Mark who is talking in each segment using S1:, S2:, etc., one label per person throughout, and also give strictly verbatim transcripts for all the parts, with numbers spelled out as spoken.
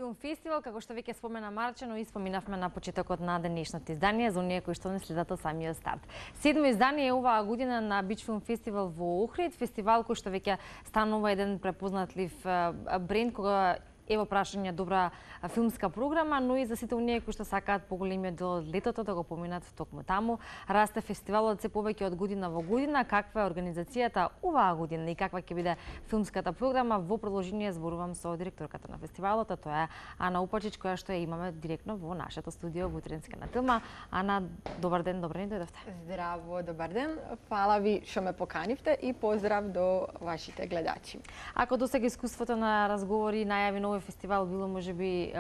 S1: Филм фестивал, како што веќе спомена Марче, но испоминавме на почетокот на денешното издание за оние кои што не следат од самиот старт. Седмо издание е оваа година на Бич Филм фестивал во Охрид, фестивал кој што веќе станува еден препознатлив бренд кога е во прашање добра филмска програма, но и за сите оние кои што сакаат поголемиот дел од летото да го поминат токму таму. Расте фестивалот се повеќе од година во година. Каква е организацијата оваа година и каква ќе биде филмската програма? Во продолжение зборувам со директорката на фестивалот, а тоа е Ана Упачич, која што ја имаме директно во нашето студио во Утренска на Тилма. Ана, добар ден, добро ни дојдовте.
S2: Здраво, добар ден. Фала ви што ме поканивте и поздрав до вашите гледачи.
S1: Ако досега искуството на разговори, најави на овој фестивал било можеби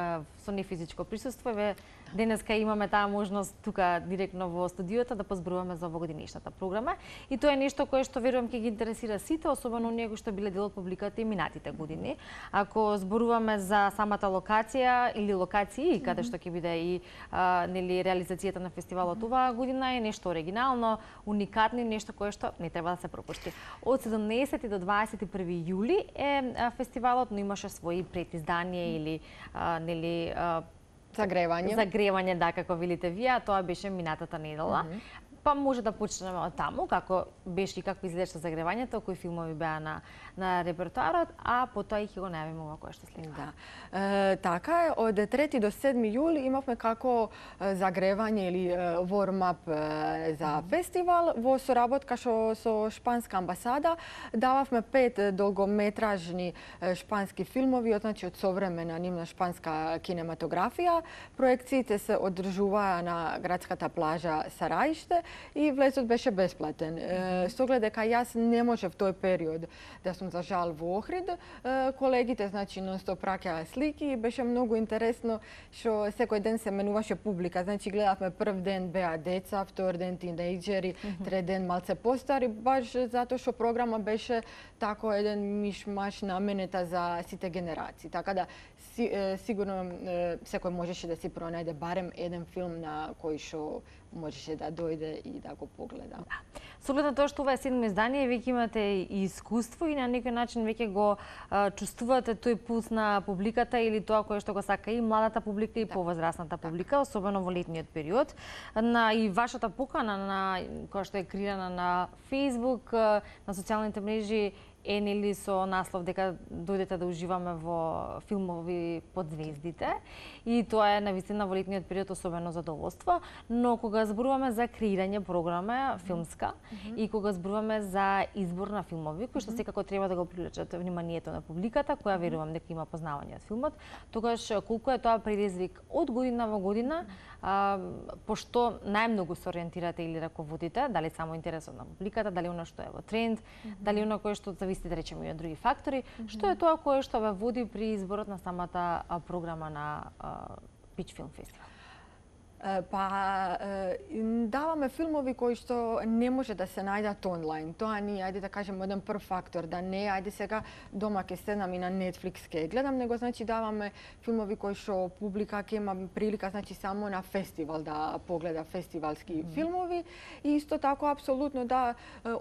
S1: со нефизичко присуство, еве денеска имаме таа можност тука директно во студиото да позборуваме за овогодинешната програма и тоа е нешто кое што верувам ќе ги интересира сите, особено оние кои што биле дел од публиката и минатите години. Ако зборуваме за самата локација или локации каде што ќе биде и а, нели реализацијата на фестивалот оваа година е нешто оригинално, уникатно, нешто кое што не треба да се пропушти. Од седумнаесети до дваесет и први јули е а, фестивалот, но имаше своји предиздание или а, нели а,
S2: Загревање.
S1: Загревање, да, како велите вие, тоа беше минатата недела. Mm -hmm. Па може да почнеме од таму, како беше и како изгледаше загревањето, кои филмови беа на, на репертоарот, а потоа и ќе го најавиме ова кое што следува.
S2: Да. Е, така е, од трети до седми јули имавме како загревање или warm-up за mm -hmm. фестивал во соработка шо, со Шпанска амбасада. Дававме пет долгометражни шпански филмови, значи од современа нивна шпанска кинематографија. Проекциите се одржуваа на градската плажа Сараиште и влезот беше бесплатен. Е, со оглед дека јас не можев тој период да сум за жал во Охрид, е, колегите значи нонстоп праќаа слики и беше многу интересно што секој ден се менуваше публика. Значи гледавме прв ден беа деца, втор ден тинејџери, трет ден малце постари, баш затоа што програма беше тако еден миш-маш наменета за сите генерации. Така да си, е, сигурно е, секој можеше да си пронајде барем еден филм на кој што можеше да дојде и да го погледа.
S1: Да. Со оглед на тоа што ова е седмо издание, веќе имате и искуство и на некој начин веќе го а, чувствувате тој пулс на публиката или тоа кое што го сака и младата публика и да. Повозрасната публика, особено во летниот период. На и вашата покана на која што е креирана на Facebook, на социјалните мрежи е нели со наслов дека дојдете да уживаме во филмови под звездите и тоа е навистина во летниот период особено задоволство, но кога зборуваме за креирање програма филмска mm -hmm. и кога зборуваме за избор на филмови кои што mm -hmm. секако треба да го привлечат вниманието на публиката, која верувам дека има познавање од филмот, тогаш колку е тоа предизвик од година во година, а, пошто најмногу се ориентирате или раководите, дали само интересот на публиката, дали она што е во тренд, mm -hmm. дали она кое што зависи да речеме и од други фактори, mm -hmm. што е тоа кое што ве води при изборот на самата програма на Бич Филм фестивал?
S2: Па даваме филмови кои што не може да се најдат онлайн. Тоа ни ајде да кажеме еден прв фактор, да не ајде сега дома ќе седнам и на Netflix ќе гледам, него значи даваме филмови кои што публика ќе има прилика значи само на фестивал да погледа фестивалски mm -hmm. филмови и исто тако апсолутно да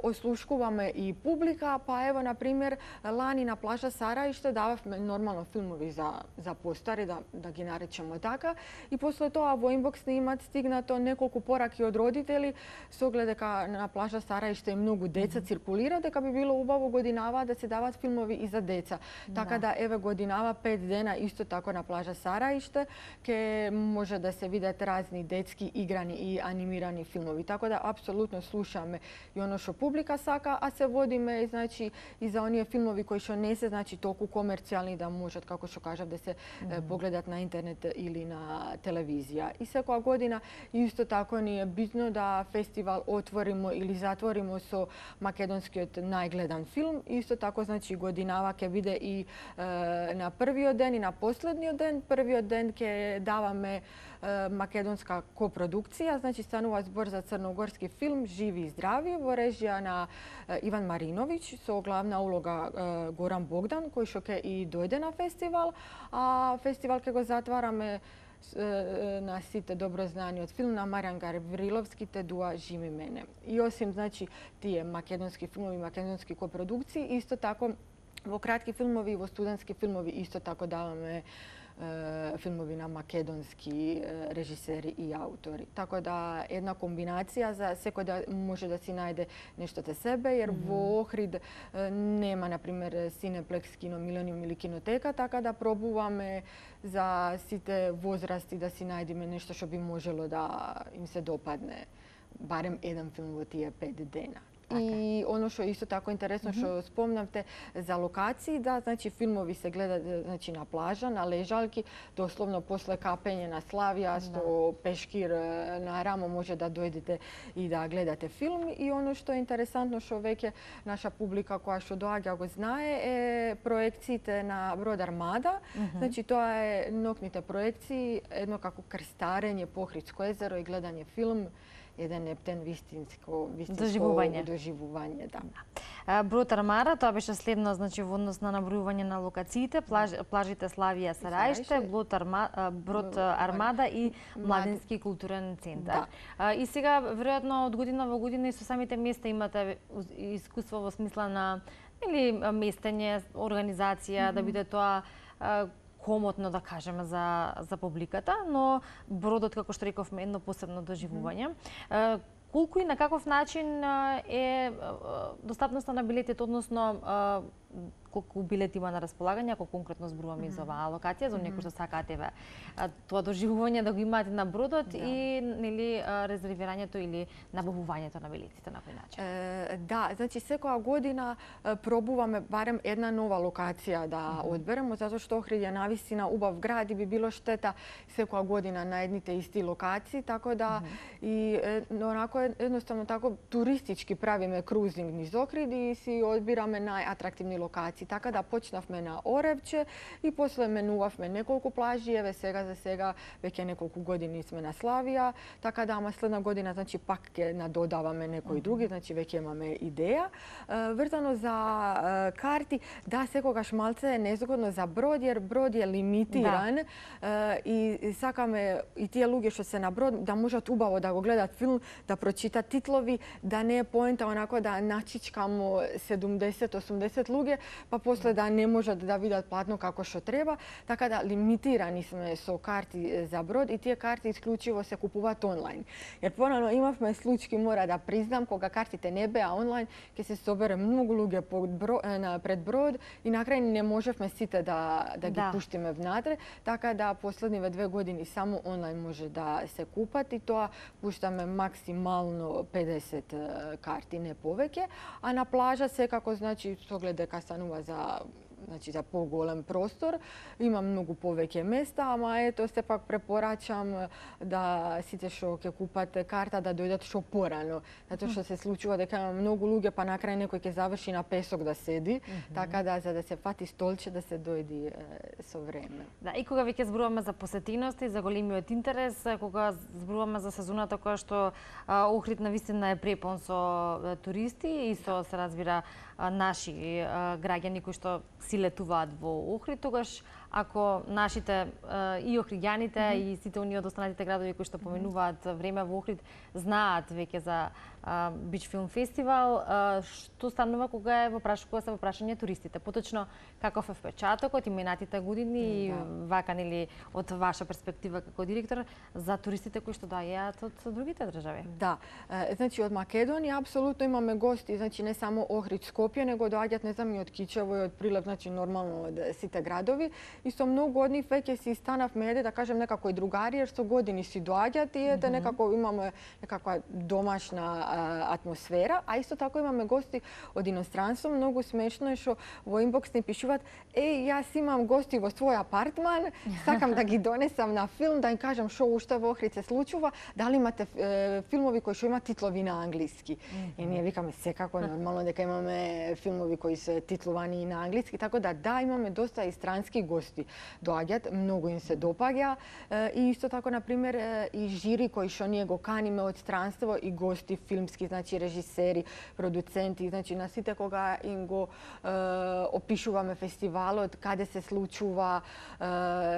S2: ослушкуваме и публика, па ево на пример лани на плажа Сараиште дававме нормално филмови за за постари да да ги наречеме така и после тоа во инбокс имат стигнато неколку пораки од родители со оглед дека на плажа Сараиште и многу деца mm -hmm. циркулира, дека би било убаво годинава да се дават филмови и за деца. Така да, да еве годинава пет дена исто тако на плажа Сараиште ке може да се видат разни детски играни и анимирани филмови. Така да апсолутно слушаме и оно што публика сака, а се водиме значи и за оние филмови кои што не се значи толку комерцијални да можат како што кажав да се mm -hmm. погледат на интернет или на телевизија. И секоја година исто тако ни е битно да фестивал отворимо или затворимо со македонскиот најгледан филм. Исто тако значи годинава ќе биде и е, на првиот ден и на последниот ден. Првиот ден ќе даваме е, македонска копродукција, значи станува збор за црногорски филм Живи и здрави во режија на е, Иван Мариновиќ со главна улога е, Горан Богдан кој што ќе и дојде на фестивал, а фестивал ќе го затвараме на сите добро знаниот филм на Маријан Гавриловски "Те дуа жими мене". И осим значи тие македонски филмови, македонски копродукции, исто тако во кратки филмови и во студентски филмови исто тако даваме филмови на македонски режисери и аутори. Така да една комбинација за секој да може да си најде нешто за себе, jer mm -hmm. во Охрид нема, например, Cineplex, Кино Милениум или Кинотека, така да пробуваме за сите возрасти да си најдеме нешто што би можело да им се допадне. Барем еден филм во тие пет дена. И оно што исто тако интересно што mm -hmm. спомнавте за локации, да, значи филмови се гледаат значи на плажа, на лежалки, дословно после капење на Славија, со да. пешкир на рамо може да дојдете и да гледате филм. И оно што е интересантно што веќе наша публика која што доаѓа го знае е проекциите на Брод Армада. Mm -hmm. Значи тоа е ноќните проекции, едно како крстарење по Охридско езеро и гледање филм. Еден ептен вистинско, вистинско доживување. доживување да.
S1: Да. Брод Армада, тоа беше следно, значи во однос на набројување на локациите, плаж, плажите Славија, Сарајште, Брод Армада, Брод Армада и Младински културен центар. Да. И сега веројатно од година во година и со самите места имате искуство во смисла на или местење, организација, mm -hmm. да биде тоа комотно, да кажеме, за, за публиката, но бродот, како што рековме, едно посебно доживување. Mm -hmm. Колку и на каков начин е достапноста на билетите, односно колку билети има на располагање, ако конкретно зборуваме mm -hmm. за оваа локација, за некој што сакаат еве тоа доживување да го имаат на бродот да. и нели резервирањето или набавувањето на билетите на кој начин?
S2: Е, да, значи секоја година пробуваме барем една нова локација да mm -hmm. одберемо, затоа што Охрид е навистина убав град и би било штета секоја година на едните исти локации, така да mm -hmm. и онако едноставно тако туристички правиме крузинг низ Охрид и си одбираме најатрактивни локации. Така да почнавме на Оревче и после менувавме неколку плажи, еве сега за сега веќе неколку години сме на Славија, така да ама следна година значи пак ќе надодаваме некои други, значи веќе имаме идеја. Врзано за карти, да, секогаш малце е незгодно за Брод, jer Брод е лимитиран да. и сакаме и тие луѓе што се на Брод да можат убаво да го гледат филм, да прочитат титлови, да не е поента онако да начичкамо седумдесет осумдесет луѓе, па после да не можат да видат платно како што треба, така да лимитирани сме со карти за Брод и тие карти исклучиво се купуваат онлайн. Jer порано имавме случаи, мора да признам, кога картите не беа онлайн, ќе се собере многу луѓе пред Брод и на крај не можевме сите да да ги да. пуштиме внатре, така да последниве две години само онлайн може да се купат и тоа пуштаме максимално педесет карти, не повеќе, а на плажа секако значи со глед дека станува за значи за поголем простор, има многу повеќе места, ама ето сепак препорачам да сите што ќе купат карта да дојдат што порано, затоа што се случува дека има многу луѓе па на крај некој ќе заврши на песок да седи, mm -hmm. така да за да се фати столче да се дојди е, со време.
S1: Да, и кога веќе зборуваме за посетиност и за големиот интерес, кога зборуваме за сезоната која што Охрид навистина е препон со туристи и со се разбира наши граѓани кои што си летуваат во Охрид, тогаш ако нашите и охриѓаните mm -hmm. и сите оние од останатите градови кои што поменуваат време во Охрид знаат веќе за Бич филм фестивал, што станува кога е во праш кога се во прашање туристите? Поточно каков е впечатокот и минатите години да. вака нели од ваша перспектива како директор за туристите кои што доаѓаат од другите држави?
S2: Да, значи од Македонија апсолутно имаме гости, значи не само Охрид, Скопје, него доаѓаат не знам и од Кичево и од Прилеп, значи нормално од сите градови. И со многу од нив веќе си станавме, еде да кажем некако и другари, jer со години си доаѓаат и ете mm -hmm. некако имаме некаква домашна атмосфера, а исто тако имаме гости од иностранство. Многу смешно е што во инбокс ни пишуваат: "Еј, јас имам гости во свој апартман, сакам да ги донесам на филм, да им кажам што уште во Охрид се случува, дали имате е, филмови кои што имаат титлови на англиски." Mm -hmm. И ние викаме секако нормално дека имаме филмови кои се титлувани и на англиски, така да да, имаме доста и странски гости доаѓаат, многу им се допаѓа и исто тако на пример и жири кои што ние го каниме од странство и гости филмски, значи режисери, продуценти, значи на сите кога им го е, опишуваме фестивалот, каде се случува, е,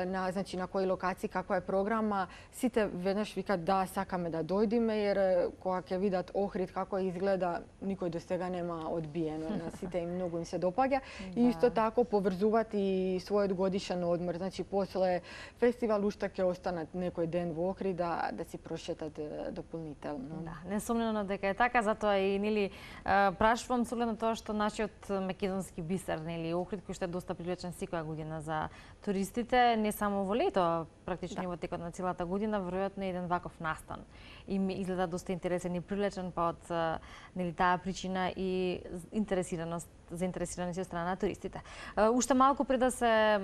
S2: на значи на кои локации, каква е програма, сите веднаш викаат да, сакаме да дојдеме, jer кога ќе видат Охрид како изгледа, никој до сега нема одбиено, на сите им многу им се допаѓа и исто тако поврзуваат и својот годишен годишен одмор. Значи после фестивал уште ќе останат некој ден во Охрид да да си прошетат дополнително.
S1: Да, несомнено дека е така, затоа и нели прашувам со оглед на тоа што нашиот македонски бисер, нели Охрид, кој што е доста привлечен секоја година за туристите, не само во лето, практично да. Во текот на целата година, веројатно е еден ваков настан. И ми изгледа доста интересен и привлечен, па од нели таа причина и интересираност, заинтересираност од страна на туристите. Уште малку пред да се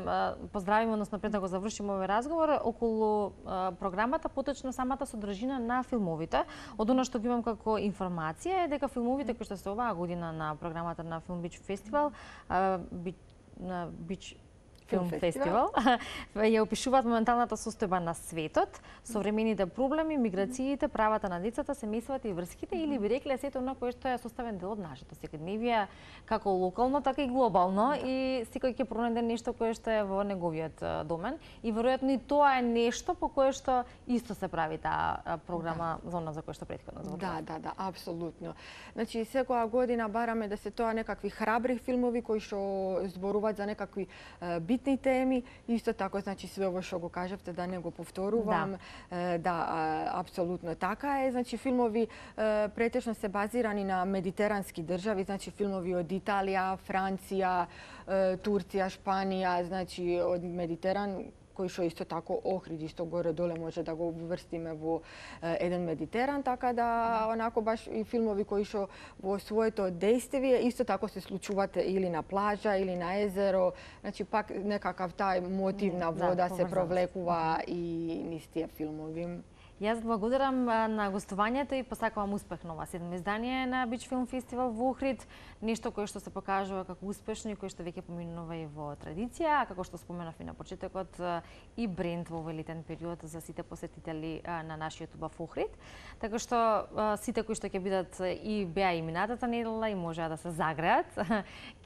S1: поздравиме, односно пред да го завршиме овој разговор, околу програмата, поточно самата содржина на филмовите. Од она што ги имам како информација е дека филмовите кои што се оваа година на програмата на Film Beach Festival, на Beach Film Festival, ја опишуваат моменталната состојба на светот, современите проблеми, миграциите, правата на децата, семејствата и врските, или би рекле сето она кое што е составен дел од нашето секојдневие, како локално, така и глобално, и секој ќе пронајде нешто кое што е во неговиот домен, и веројатно и тоа е нешто по кое што исто се прави таа програма да. За она за кој што претходно зборував.
S2: Да, да, да, апсолутно. Значи секоја година бараме да се тоа некакви храбри филмови кои што зборуваат за некакви битни теми, исто тако, значи све ово што го кажавте, да не го повторувам. Да, да апсолутно така е. Значи филмови претежно се базирани на медитерански држави, значи филмови од Италија, Франција, Турција, Шпанија, значи од Медитеран, кој што исто тако Охрид, исто горе-доле може да го врстиме во еден Медитеран, така да онако баш и филмови кои што во своето дејствие исто тако се случуваат или на плажа или на езеро, значи пак некакав тај мотив на вода да, се провлекува и низ тие филмови.
S1: Јас благодарам на гостувањето и посакувам успех на ова седмо издание на Beach Film Festival во Охрид, нешто кое што се покажува како успешно и кое што веќе поминува и во традиција, како што споменав и на почетокот, и бренд во овој летен период за сите посетители на нашиот убав Охрид. Така што сите кои што ќе бидат и беа и минатата недела и можеа да се загреат,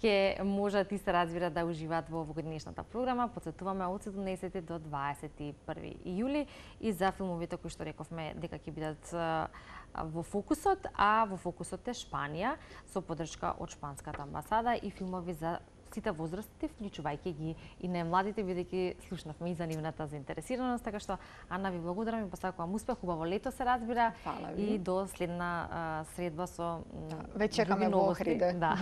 S1: ќе можат и се разбира да уживаат во овогодишната програма. Потсетуваме од седумнаесети до дваесет и први ијули и за филмовите кои што рековме дека ќе бидат во фокусот, а во фокусот е Шпанија со поддршка од шпанската амбасада и филмови за сите возрасти, вклучувајќи ги и најмладите, бидејќи слушнавме и за нивната заинтересираност, така што Ана ви благодарам и посакувам успех, убаво лето се разбира и до следна а, средба со
S2: да, веќе чекаме во Охрид.
S1: Да,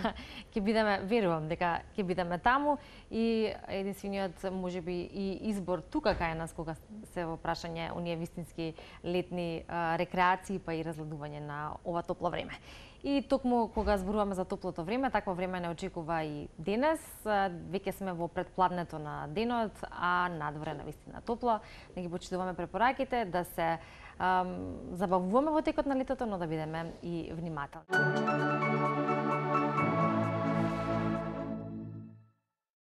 S1: ќе бидеме, верувам дека ќе бидеме таму и единствениот можеби и избор тука кај нас кога се во прашање оние вистински летни а, рекреации па и разгладување на ова топло време. И токму кога зборуваме за топлото време, такво време не очекува и денес. Веќе сме во предпладнето на денот, а надвор е навистина топло. Не ги почитуваме препораките да се ам, забавуваме во текот на летото, но да бидеме и внимателни.